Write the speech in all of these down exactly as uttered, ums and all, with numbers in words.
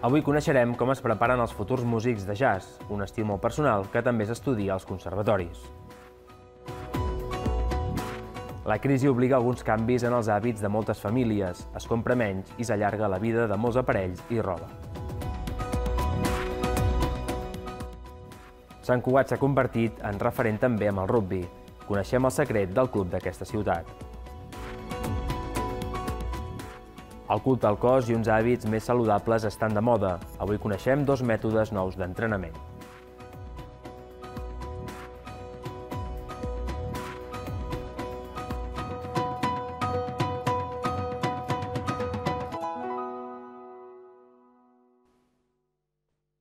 Avui coneixerem com es preparen els futurs músics de jazz, un estil molt personal que també s'estudia als conservatoris. La crisi obliga alguns canvis en els hàbits de moltes famílies, es compra menys i s'allarga la vida de molts aparells i roba. Sant Cugat s'ha convertit en referent també amb el rugbi. Coneixem el secret del club d'aquesta ciutat. El culte al cos i uns hàbits més saludables estan de moda. Avui coneixem dos mètodes nous d'entrenament.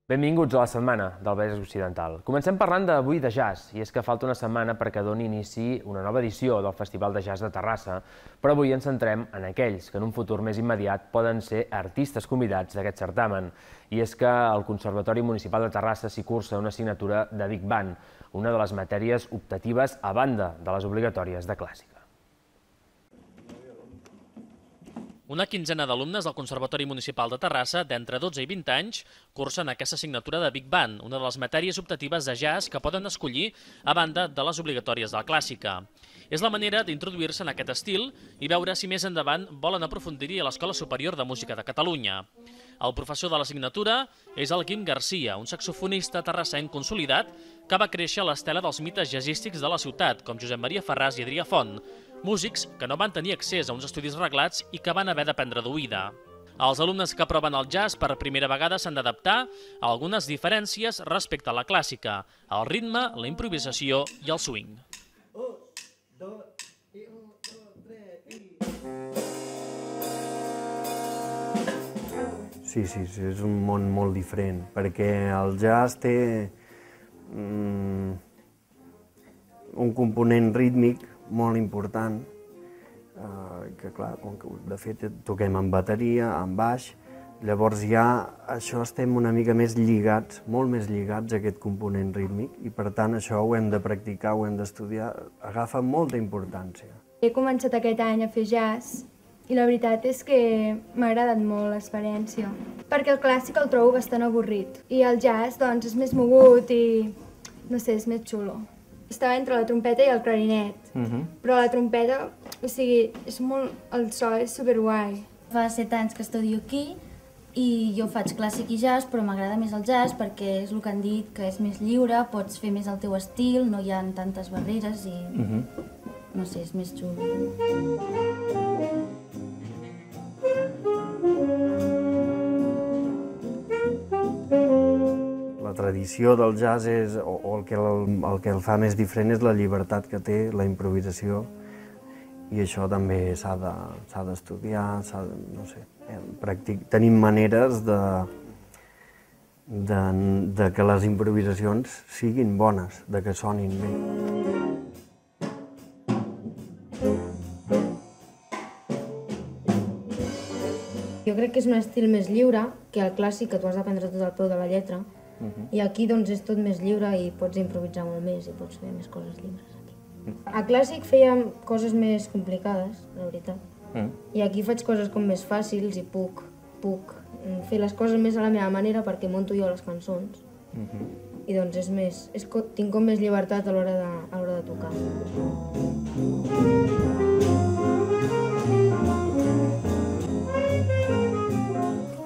Benvinguts a la setmana del Vallès Occidental. Comencem parlant d'avui de jazz, i és que falta una setmana perquè doni inici una nova edició del Festival de Jazz de Terrassa, però avui ens centrem en aquells que en un futur més immediat poden ser artistes convidats d'aquest certamen. I és que al Conservatori Municipal de Terrassa s'hi cursa una assignatura de Big Band, una de les matèries optatives a banda de les obligatòries de clàssica. Una quinzena d'alumnes del Conservatori Municipal de Terrassa, d'entre dotze i vint anys, cursen aquesta assignatura de Big Band, una de les matèries optatives de jazz que poden escollir a banda de les obligatòries de la clàssica. És la manera d'introduir-se en aquest estil i veure si més endavant volen aprofundir-hi a l'Escola Superior de Música de Catalunya. El professor de l'assignatura és el Guim Garcia, un saxofonista terrassenc consolidat que va créixer a l'estela dels mites jazzístics de la ciutat, com Josep Maria Ferràs i Adrià Font, músics que no van tenir accés a uns estudis reglats i que van haver d'aprendre d'oïda. Els alumnes que proven el jazz per primera vegada s'han d'adaptar a algunes diferències respecte a la clàssica, el ritme, la improvisació i el swing. Sí, sí, és un món molt diferent, perquè el jazz té um, un component rítmic molt important, eh, que clar, com que de fet toquem amb bateria, amb baix, llavors ja això estem una mica més lligats, molt més lligats a aquest component rítmic, i per tant això ho hem de practicar, ho hem d'estudiar, agafa molta importància. He començat aquest any a fer jazz i la veritat és que m'ha agradat molt l'experiència, perquè el clàssic el trobo bastant avorrit i el jazz doncs és més mogut i no sé, és més xulo. Estava entre la trompeta i el clarinet, uh-huh. però la trompeta, o sigui, és molt, el so és superguai. Fa set anys que estudio aquí i jo faig clàssic i jazz, però m'agrada més el jazz perquè és el que han dit, que és més lliure, pots fer més el teu estil, no hi ha tantes barreres i, uh-huh. no sé, és més xulo. La tradició del jazz és, o, o el, que el, el que el fa més diferent és la llibertat que té, la improvisació, i això també s'ha d'estudiar, s'ha de, no sé, practic, tenim maneres de, de, de que les improvisacions siguin bones, de que sonin bé. Jo crec que és un estil més lliure que el clàssic, que tu has d'aprendre tot al peu de la lletra, uh-huh. i aquí doncs és tot més lliure i pots improvisar molt més i pots fer més coses lliures aquí. Uh-huh. A clàssic fèiem coses més complicades, la veritat, uh-huh. i aquí faig coses com més fàcils i puc, puc fer les coses més a la meva manera perquè monto jo les cançons. Uh-huh. I doncs és més, és, tinc com més llibertat a l'hora de, a l'hora de tocar.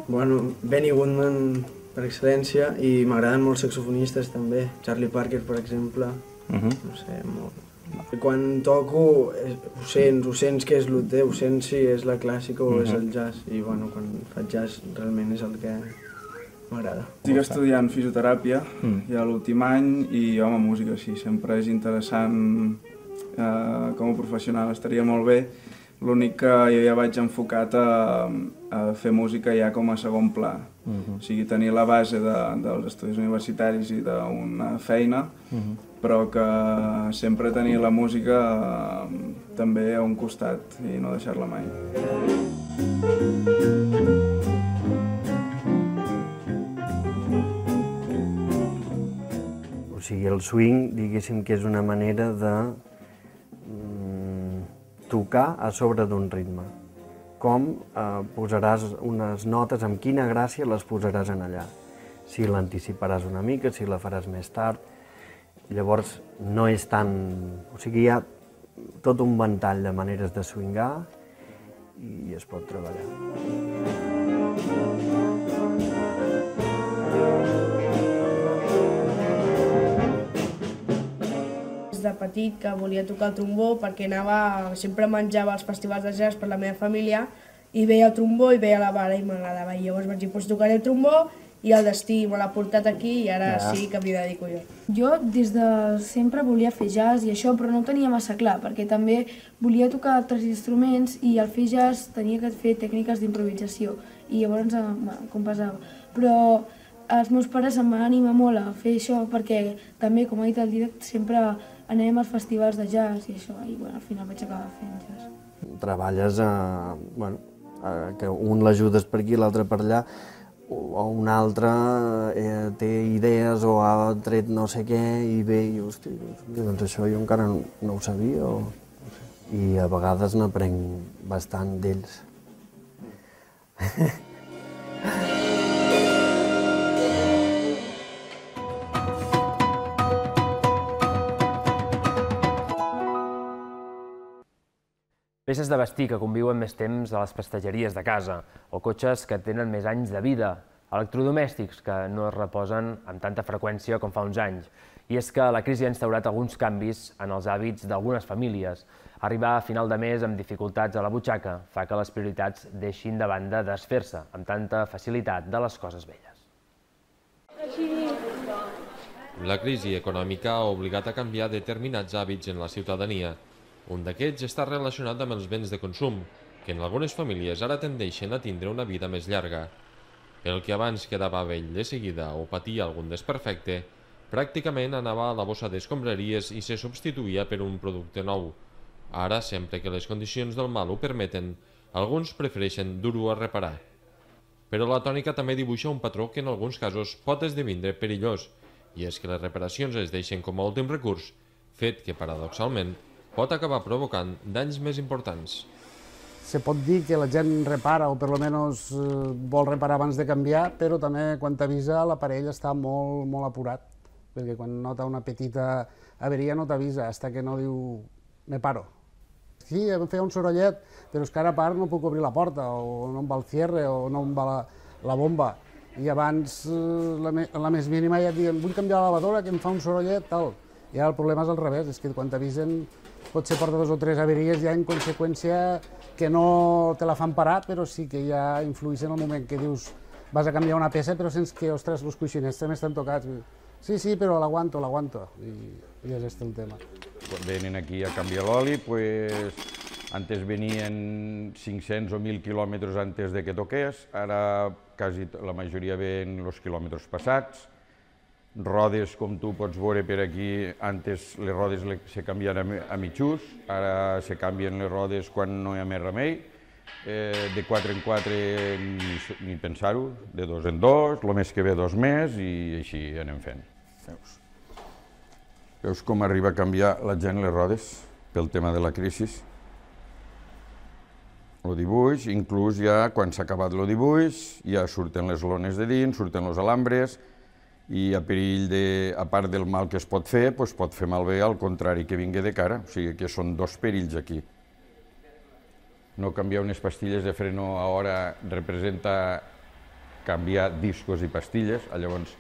Bueno, Benny Goodman per excel·lència, i m'agraden molts saxofonistes també, Charlie Parker per exemple, uh-huh. no sé, molt. Quan toco ho sents, ho sents que és el teu, ho sents si és la clàssica o uh-huh. és el jazz, i bueno, quan faig jazz realment és el que m'agrada. Estic estudiant fisioteràpia, mm. ja l'últim any, i home, música sí, sempre és interessant eh, com a professional, estaria molt bé. L'únic que jo ja vaig enfocat a, a fer música ja com a segon pla. Uh-huh. O sigui, tenir la base de, dels estudis universitaris i d'una feina, uh-huh. però que sempre tenir la música eh, també a un costat i no deixar-la mai. O sigui, el swing, diguéssim que és una manera de tocar a sobre d'un ritme. com posaràs unes notes, amb quina gràcia les posaràs en allà. Si l'anticiparàs una mica, si la faràs més tard. Llavors no és tan... O sigui, hi ha tot un ventall de maneres de swingar i es pot treballar. Des de petit que volia tocar el trombó perquè anava, sempre menjava als festivals de jazz per la meva família i veia el trombó i veia la vara i m'agradava. I llavors vaig dir, doncs tocaré el trombó i el destí me l'ha portat aquí i ara ja. Sí que m'hi dedico jo. Jo des de sempre volia fer jazz i això, però no ho tenia massa clar, perquè també volia tocar altres instruments i al fer jazz tenia que fer tècniques d'improvisació i llavors bueno, com passava. Però els meus pares em van animar molt a fer això perquè també, com ha dit el Dídac, sempre anem als festivals de jazz i això, i bueno, al final vaig acabar fent jazz. Treballes, a, bueno, a, que un l'ajudes per aquí, l'altre per allà, o un altre eh, té idees o ha tret no sé què i ve i, hosti, doncs això jo encara no, no ho sabia. O, no sé. I a vegades n'aprenc bastant d'ells. Peces de vestir que conviuen més temps a les prestatgeries de casa, o cotxes que tenen més anys de vida, electrodomèstics que no es reposen amb tanta freqüència com fa uns anys. I és que la crisi ha instaurat alguns canvis en els hàbits d'algunes famílies. Arribar a final de mes amb dificultats a la butxaca fa que les prioritats deixin de banda desfer-se amb tanta facilitat de les coses velles. La crisi econòmica ha obligat a canviar determinats hàbits en la ciutadania. Un d'aquests està relacionat amb els béns de consum, que en algunes famílies ara tendeixen a tindre una vida més llarga. El que abans quedava vell de seguida o patia algun desperfecte, pràcticament anava a la bossa d'escombraries i se substituïa per un producte nou. Ara, sempre que les condicions del mal ho permeten, alguns prefereixen dur-ho a reparar. Però la tònica també dibuixa un patró que en alguns casos pot esdevindre perillós, i és que les reparacions es deixen com a últim recurs, fet que, paradoxalment, pot acabar provocant danys més importants. Se pot dir que la gent repara, o per almenys vol reparar abans de canviar, però també quan t'avisa l'aparell està molt, molt apurat, perquè quan nota una petita averia no t'avisa, fins que no diu me paro. Sí, em feia un sorollet, però és que ara a part no puc obrir la porta, o no em va el cierre, o no em va la, la bomba. I abans, la, la més mínima, ja et diuen, vull canviar la lavadora, que em fa un sorollet, tal. I ara el problema és al revés, és que quan t'avisen potser porta dos o tres averies ja en conseqüència que no te la fan parar, però sí que ja influeix en el moment que dius vas a canviar una peça però sents que, ostres, els coixinets també estan tocats. Sí, sí, però l'aguanto, l'aguanto. I, i és este el tema. Quan venen aquí a canviar l'oli, pues, antes venien cinc-cents o mil quilòmetres antes de que toqués, ara quasi la majoria ven els quilòmetres passats. Rodes, com tu pots veure per aquí, antes les rodes se canvien a mitjús, ara se canvien les rodes quan no hi ha més remei. De quatre en quatre ni pensar-ho, de dos en dos, el mes que ve dos més i així anem fent. Veus? Veus com arriba a canviar la gent les rodes pel tema de la crisi? El dibuix, inclús ja quan s'ha acabat el dibuix, ja surten les lones de dins, surten els alambres, i a perill de, a part del mal que es pot fer, doncs pot fer malbé al contrari que vingui de cara, o sigui que són dos perills aquí. No canviar unes pastilles de freno a hora representa canviar discos i pastilles, llavors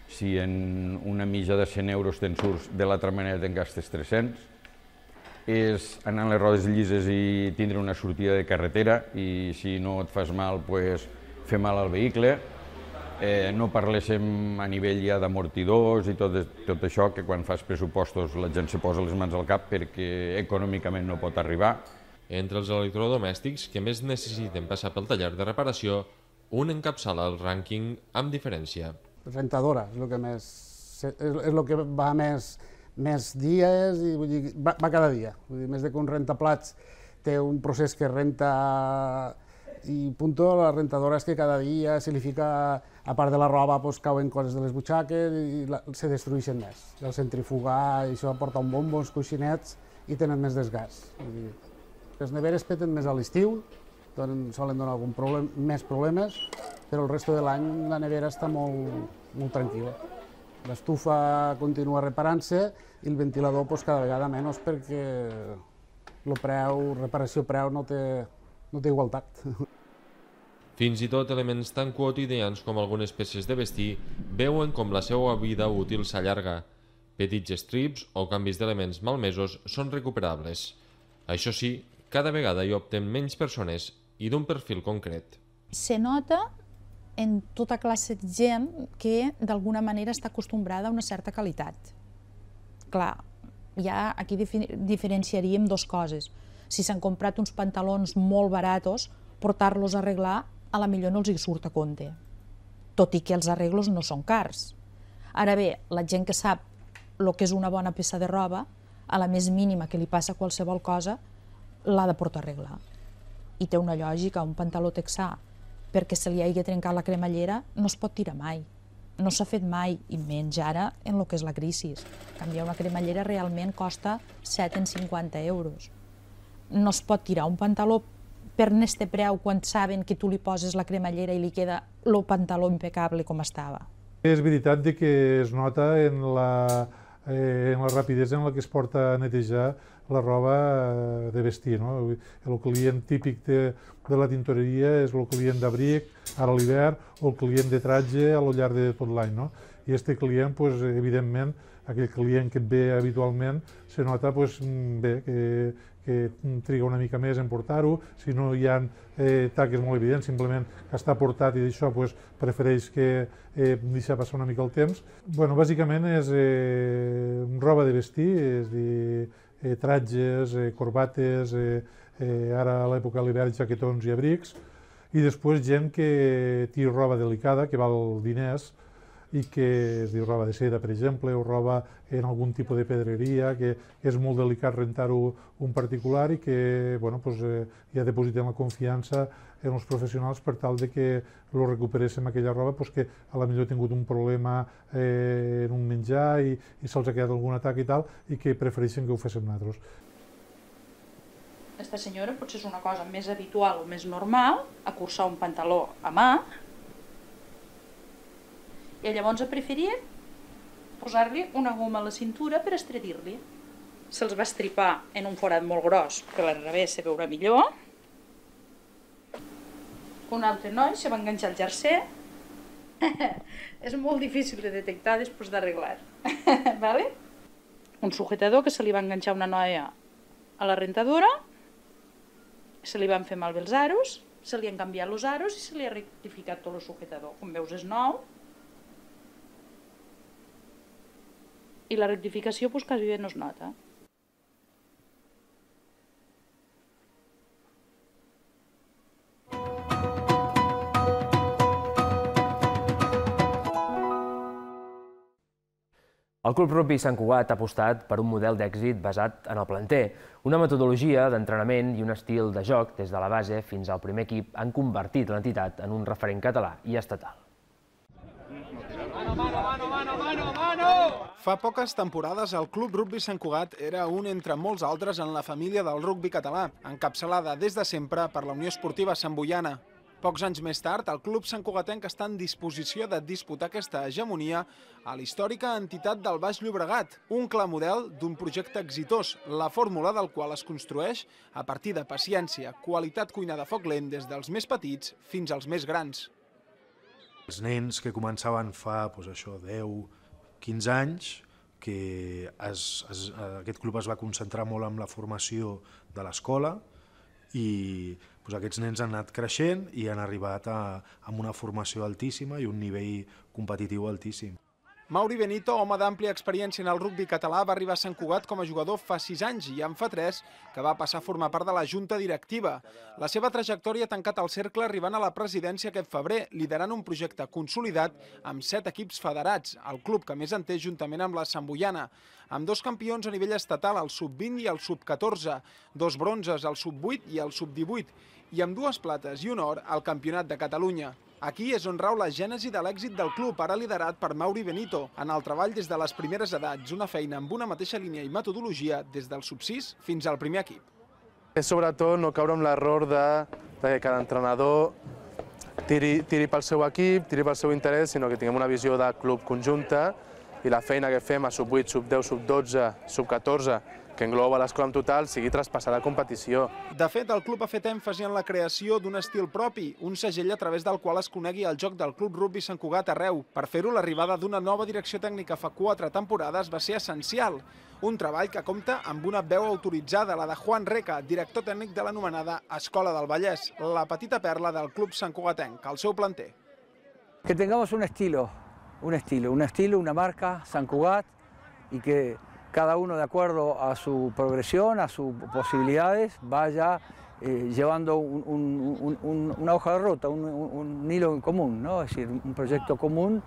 si en una mitja de cent euros te'n surts, de l'altra manera te'n gastes tres-cents. És anar amb les rodes llises i tindre una sortida de carretera i si no et fas mal, doncs fer mal al vehicle. Eh, no parléssim a nivell ja d'amortidors i tot, tot això, que quan fas pressupostos la gent se posa les mans al cap perquè econòmicament no pot arribar. Entre els electrodomèstics que més necessiten passar pel taller de reparació, un encapçala el rànquing amb diferència. Rentadora és el que més, és el que va més, més dies i vull dir, va, va cada dia. Vull dir, més de que un rentaplats té un procés que renta i punto, la rentadora és que cada dia se li fica, a part de la roba, pues, cauen coses de les butxaques i la, se destrueixen més. El centrifugar, i això aporta un bombo, uns coixinets i tenen més desgast. Vull dir, les neveres peten més a l'estiu solen donar algun problem, més problemes, però el resto de l'any la nevera està molt, molt tranquil·la. L'estufa continua reparant-se i el ventilador pues, cada vegada menys perquè el preu, reparació-preu no té, no té igualtat. Fins i tot elements tan quotidians com algunes peces de vestir veuen com la seva vida útil s'allarga. Petits estrips o canvis d'elements malmesos són recuperables. Això sí, cada vegada hi opten menys persones i d'un perfil concret. Se nota en tota classe de gent que d'alguna manera està acostumbrada a una certa qualitat. Clar, ja aquí diferenciaríem dues coses. Si s'han comprat uns pantalons molt baratos, portar-los a arreglar a la millor no els hi surt a compte, tot i que els arreglos no són cars. Ara bé, la gent que sap el que és una bona peça de roba, a la més mínima que li passa qualsevol cosa, l'ha de portar a arreglar. I té una lògica, un pantaló texà, perquè se li hagi trencat la cremallera, no es pot tirar mai. No s'ha fet mai, i menys ara en el que és la crisi. Canviar una cremallera realment costa set cents cinquanta euros. No es pot tirar un pantaló per este preu quan saben que tu li poses la cremallera i li queda el pantaló impecable com estava. És veritat que es nota en la, eh, en la rapidesa en la que es porta a netejar la roba de vestir. No? El client típic de, de la tintoreria és el client d'abric, ara a l'hivern, o el client de tratge a lo llarg de tot l'any. No? I aquest client, pues, evidentment, aquell client que et ve habitualment, se nota pues, bé, que, que triga una mica més en portar-ho, si no hi ha eh, taques molt evidents, simplement que està portat i d'això pues, prefereix que eh, deixar passar una mica el temps. Bueno, bàsicament és eh, roba de vestir, és dir, eh, tratges, eh, corbates, eh, eh, ara a l'època de l'hivern jaquetons i abrics, i després gent que té roba delicada, que val diners, i que es diu roba de seda, per exemple, o roba en algun tipus de pedreria, que és molt delicat rentar-ho un particular i que bueno, pues, eh, ja depositem la confiança en els professionals per tal de que lo recuperéssim aquella roba pues, que a la millor ha tingut un problema eh, en un menjar i, i se'ls ha quedat algun atac i tal, i que prefereixen que ho féssim nosaltres. Esta senyora potser és una cosa més habitual o més normal, acurçar un pantaló a mà, i llavors ha preferit posar-li una goma a la cintura per estretir-li. Se'ls va estripar en un forat molt gros, que al revés se veurà millor. Un altre noi se va enganxar el jersei. És molt difícil de detectar després d'arreglar. Vale? Un sujetador que se li va enganxar una noia a la rentadora, se li van fer malbé els aros, se li han canviat els aros i se li ha rectificat tot el sujetador. Com veus és nou. I la rectificació pues, quasi bé no es nota. El Club Rugby Sant Cugat ha apostat per un model d'èxit basat en el planter. Una metodologia d'entrenament i un estil de joc des de la base fins al primer equip han convertit l'entitat en un referent català i estatal. Fa poques temporades el Club Rugby Sant Cugat era un entre molts altres en la família del rugbi català, encapçalada des de sempre per la Unió Esportiva Sant Boiana. Pocs anys més tard, el Club Sant Cugatenc està en disposició de disputar aquesta hegemonia a la històrica entitat del Baix Llobregat, un clar model d'un projecte exitós, la fórmula del qual es construeix a partir de paciència, qualitat cuinada a foc lent des dels més petits fins als més grans. Els nens que començaven fa doncs, això, deu, quinze anys, que es, es, aquest club es va concentrar molt en la formació de l'escola i doncs, aquests nens han anat creixent i han arribat a, a una formació altíssima i un nivell competitiu altíssim. Mauri Benito, home d'àmplia experiència en el rugbi català, va arribar a Sant Cugat com a jugador fa sis anys i en fa tres que va passar a formar part de la junta directiva. La seva trajectòria ha tancat el cercle arribant a la presidència aquest febrer, liderant un projecte consolidat amb set equips federats, el club que més en té juntament amb la Sant Boiana, amb dos campions a nivell estatal, el sub vint i el sub catorze, dos bronzes, el sub vuit i el sub divuit, i amb dues plates i un or al Campionat de Catalunya. Aquí és on rau la gènesi de l'èxit del club, ara liderat per Mauri Benito, en el treball des de les primeres edats, una feina amb una mateixa línia i metodologia des del sub sis fins al primer equip. És sobretot no caure en l'error de que cada entrenador tiri pel seu equip, tiri pel seu interès, sinó que tinguem una visió de club conjunta i la feina que fem a sub vuit, sub deu, sub dotze, sub catorze, que engloba l'escola en total, sigui traspassada a competició. De fet, el club ha fet èmfasi en la creació d'un estil propi, un segell a través del qual es conegui el joc del Club Rugbi Sant Cugat arreu. Per fer-ho, l'arribada d'una nova direcció tècnica fa quatre temporades va ser essencial. Un treball que compta amb una veu autoritzada, la de Juan Reca, director tècnic de l'anomenada Escola del Vallès, la petita perla del club santcugatenc, al seu planter. Que tengamos un estilo, un estilo, un estilo, una marca, Sant Cugat, y que cada uno de acuerdo a su progresión, a sus posibilidades, vaya eh, llevando un, un, un, una hoja de ruta, un, un, un hilo en común, ¿no? Es decir, un proyecto común.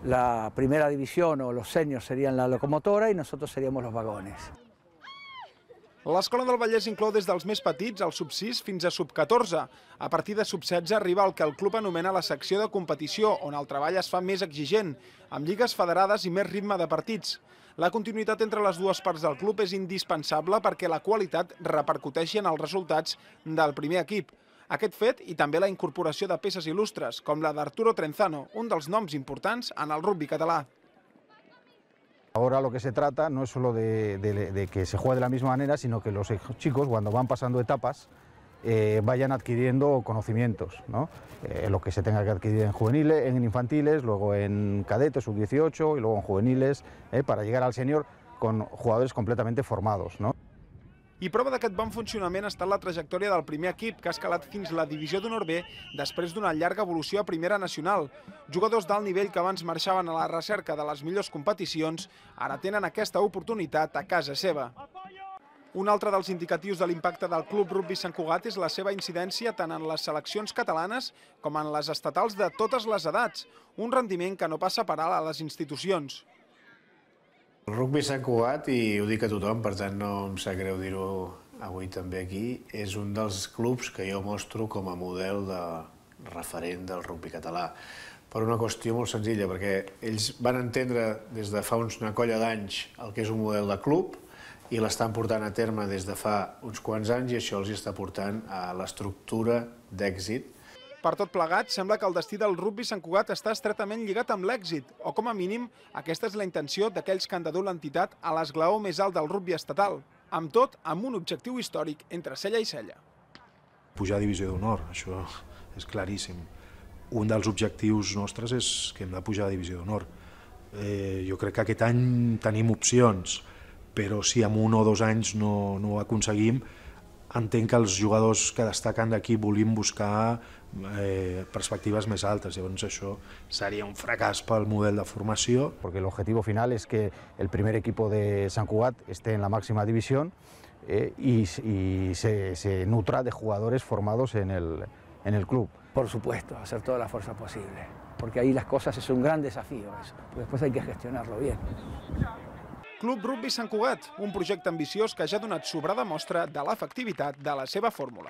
La primera división o los seniors serían la locomotora y nosotros seríamos los vagones. L'Escola del Vallès inclou des dels més petits, el sub sis, fins a sub catorze. A partir de sub setze arriba el que el club anomena la secció de competició, on el treball es fa més exigent, amb lligues federades i més ritme de partits. La continuïtat entre les dues parts del club és indispensable perquè la qualitat repercuteixi en els resultats del primer equip. Aquest fet i també la incorporació de peces il·lustres, com la d'Arturo Trenzano, un dels noms importants en el rugbi català. Ahora lo que se trata no es solo de, de, de que se juegue de la misma manera, sino que los chicos, cuando van pasando etapas, eh, vayan adquiriendo conocimientos, ¿no? Eh, lo que se tenga que adquirir en juveniles, en infantiles, luego en cadetes, sub dieciocho y luego en juveniles, eh, para llegar al senior con jugadores completamente formados, ¿no? I prova d'aquest bon funcionament ha estat la trajectòria del primer equip, que ha escalat fins la divisió d'honor B després d'una llarga evolució a primera nacional. Jugadors d'alt nivell que abans marxaven a la recerca de les millors competicions, ara tenen aquesta oportunitat a casa seva. Un altre dels indicatius de l'impacte del Club Rugbi Sant Cugat és la seva incidència tant en les seleccions catalanes com en les estatals de totes les edats, un rendiment que no passa per alt a les institucions. El Rugbi Sant Cugat, i ho dic a tothom, per tant no em sap greu dir-ho avui també aquí, és un dels clubs que jo mostro com a model de referent del rugbi català. Per una qüestió molt senzilla, perquè ells van entendre des de fa una colla d'anys el que és un model de club i l'estan portant a terme des de fa uns quants anys i això els està portant a l'estructura d'èxit. Per tot plegat, sembla que el destí del rugbi Sant Cugat està estretament lligat amb l'èxit, o com a mínim, aquesta és la intenció d'aquells que han de dur l'entitat a l'esglaó més alt del rugbi estatal, amb tot amb un objectiu històric entre cella i cella. Pujar a divisió d'honor, això és claríssim. Un dels objectius nostres és que hem de pujar a divisió d'honor. Eh, jo crec que aquest any tenim opcions, però si en un o dos anys no, no ho aconseguim, entenc que els jugadors que destaquen d'aquí volim buscar eh, perspectives més altes, llavors això seria un fracàs pel model de formació. Porque el objetivo final es que el primer equipo de Sant Cugat esté en la máxima división eh, y, y se, se nutra de jugadores formados en el, en el club. Por supuesto, hacer toda la fuerza posible, porque ahí las cosas es un gran desafío, eso. Después hay que gestionarlo bien. Club Rugbi Sant Cugat, un projecte ambiciós que ja ha donat sobrada mostra de l'efectivitat de la seva fórmula.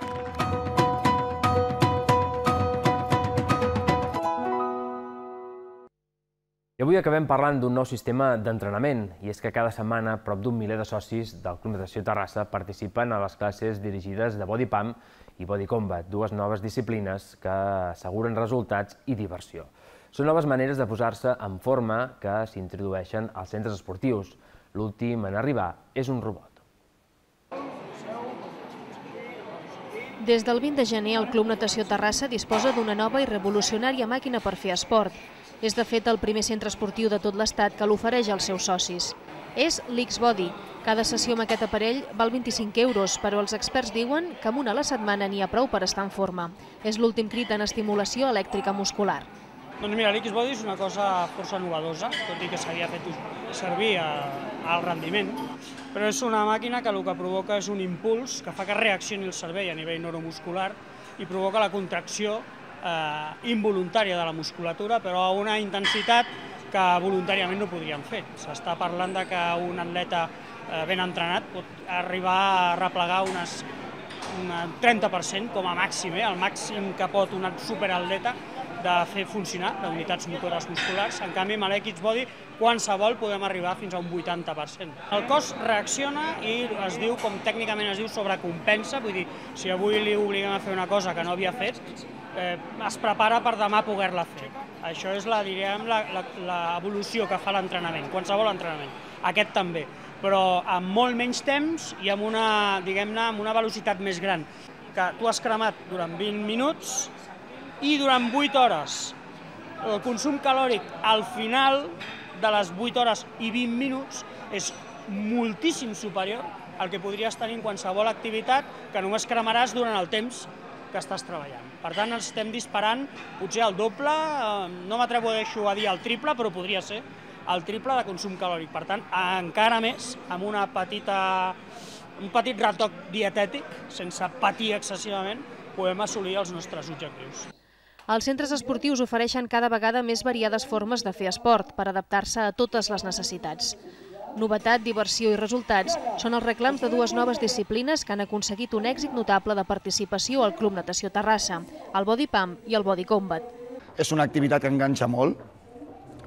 I avui acabem parlant d'un nou sistema d'entrenament, i és que cada setmana prop d'un miler de socis del Club Natació Terrassa participen a les classes dirigides de Body Pump i Body Combat, dues noves disciplines que asseguren resultats i diversió. Són noves maneres de posar-se en forma que s'introdueixen als centres esportius. L'últim en arribar és un robot. Des del vint de gener, el Club Natació Terrassa disposa d'una nova i revolucionària màquina per fer esport. És, de fet, el primer centre esportiu de tot l'Estat que l'ofereix als seus socis. És l'X-Body. Cada sessió amb aquest aparell val vint-i-cinc euros, però els experts diuen que amb una a la setmana n'hi ha prou per estar en forma. És l'últim crit en estimulació elèctrica muscular. Doncs mira, l'X-Body és una cosa força novedosa, tot i que s'havia fet servir al rendiment, però és una màquina que el que provoca és un impuls que fa que reaccioni el cervell a nivell neuromuscular i provoca la contracció eh, involuntària de la musculatura, però a una intensitat que voluntàriament no podríem fer. S'està parlant de que un atleta eh, ben entrenat pot arribar a replegar unes, un trenta per cent com a màxim, eh, el màxim que pot un superatleta de fer funcionar, d'unitats motores musculars. En canvi, amb l'X Body, qualsevol podem arribar fins a un vuitanta per cent. El cos reacciona i es diu, com tècnicament es diu, sobrecompensa, vull dir, si avui li obliguem a fer una cosa que no havia fet, eh, es prepara per demà poder-la fer. Això és la, diríem, l'evolució que fa l'entrenament, qualsevol entrenament. Aquest també, però amb molt menys temps i amb una, diguem-ne, amb una velocitat més gran. Que tu has cremat durant vint minuts i durant vuit hores. El consum calòric al final de les vuit hores i vint minuts és moltíssim superior al que podries tenir en qualsevol activitat que només cremaràs durant el temps que estàs treballant. Per tant, estem disparant potser el doble, no m'atrevo a dir el triple, però podria ser el triple de consum calòric. Per tant, encara més, amb una petita, un petit retoc dietètic, sense patir excessivament, podem assolir els nostres objectius. Els centres esportius ofereixen cada vegada més variades formes de fer esport per adaptar-se a totes les necessitats. Novetat, diversió i resultats són els reclams de dues noves disciplines que han aconseguit un èxit notable de participació al Club Natació Terrassa, el Body Pump i el Body Combat. És una activitat que enganxa molt,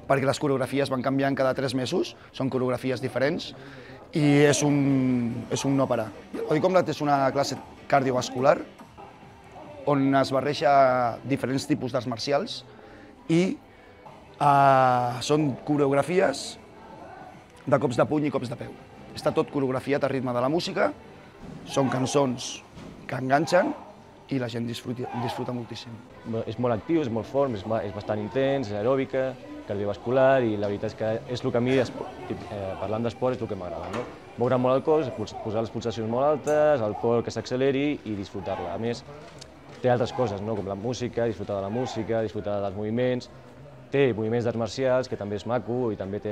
perquè les coreografies van canviant cada tres mesos, són coreografies diferents, i és un, és un no parar. El Body Combat és una classe cardiovascular, on es barreja diferents tipus d'arts marcials i uh, són coreografies de cops de puny i cops de peu. Està tot coreografiat a ritme de la música, són cançons que enganxen i la gent disfruta, disfruta moltíssim. És molt actiu, és molt fort, és, és bastant intens, és aeròbica, cardiovascular i la veritat és que és el que a mi, eh, parlant d'esport, és el que m'agrada. No? Moure molt el cos, posar les pulsacions molt altes, el cor que s'acceleri i disfrutar-la. A més, té altres coses, no? Com la música, disfrutar de la música, disfrutar dels moviments, té moviments d'arts marcials, que també és maco i també, té,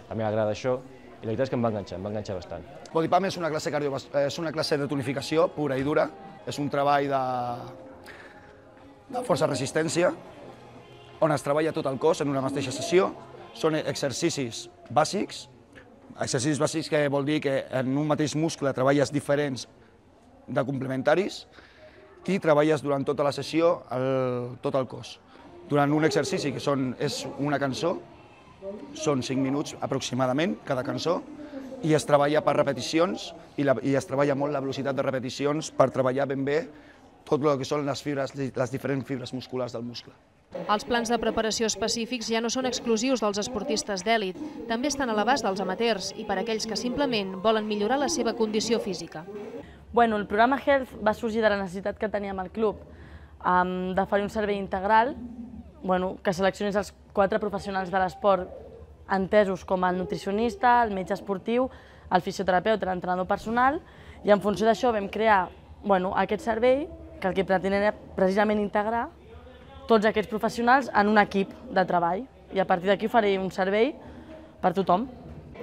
també agrada això, i la veritat és que em va enganxar, em va enganxar bastant. Body Pump és una classe, és una classe de tonificació pura i dura, és un treball de, de força-resistència, on es treballa tot el cos en una mateixa sessió, són exercicis bàsics, exercicis bàsics que vol dir que en un mateix muscle treballes diferents de complementaris i treballes durant tota la sessió el, tot el cos. Durant un exercici, que són, és una cançó, són cinc minuts aproximadament, cada cançó, i es treballa per repeticions, i, la, i es treballa molt la velocitat de repeticions per treballar ben bé tot el que són les, fibres, les diferents fibres musculars del muscle. Els plans de preparació específics ja no són exclusius dels esportistes d'èlit, també estan a l'abast dels amateurs i per aquells que simplement volen millorar la seva condició física. Bueno, el programa Health va sorgir de la necessitat que teníem al club um, de fer un servei integral, bueno, que seleccionés els quatre professionals de l'esport entesos com el nutricionista, el metge esportiu, el fisioterapeuta, l'entrenador personal, i en funció d'això vam crear bueno, aquest servei que el que pretenia era precisament integrar tots aquests professionals en un equip de treball, i a partir d'aquí faré un servei per tothom.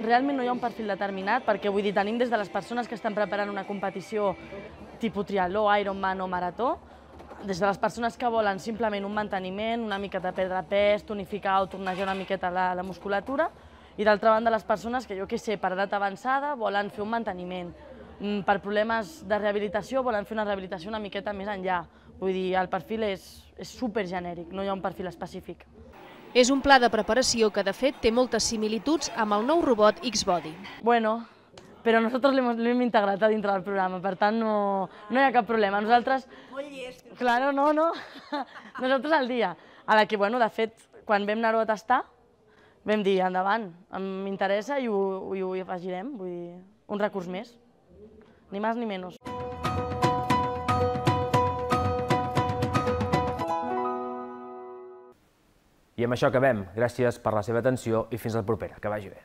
Realment no hi ha un perfil determinat, perquè vull dir, tenim des de les persones que estan preparant una competició tipus triatló, Ironman o marató, des de les persones que volen simplement un manteniment, una miqueta perdre pes, tonificar o tornejar una miqueta la, la musculatura, i d'altra banda les persones que, jo què sé, per edat avançada volen fer un manteniment, per problemes de rehabilitació volen fer una rehabilitació una miqueta més enllà. Vull dir, el perfil és, és supergenèric, no hi ha un perfil específic. És un pla de preparació que, de fet, té moltes similituds amb el nou robot X-Body. Bueno, però nosaltres l'hem integrat a dintre del programa, per tant no, no hi ha cap problema. Nosaltres... Claro, no, no. Nosaltres al dia. A la que, bueno, de fet, quan vam anar-ho a tastar, vam dir, endavant, m'interessa i, ho, i ho afegirem, vull dir, un recurs més. Ni més ni menys. I amb això acabem. Gràcies per la seva atenció i fins la propera. Que vagi bé.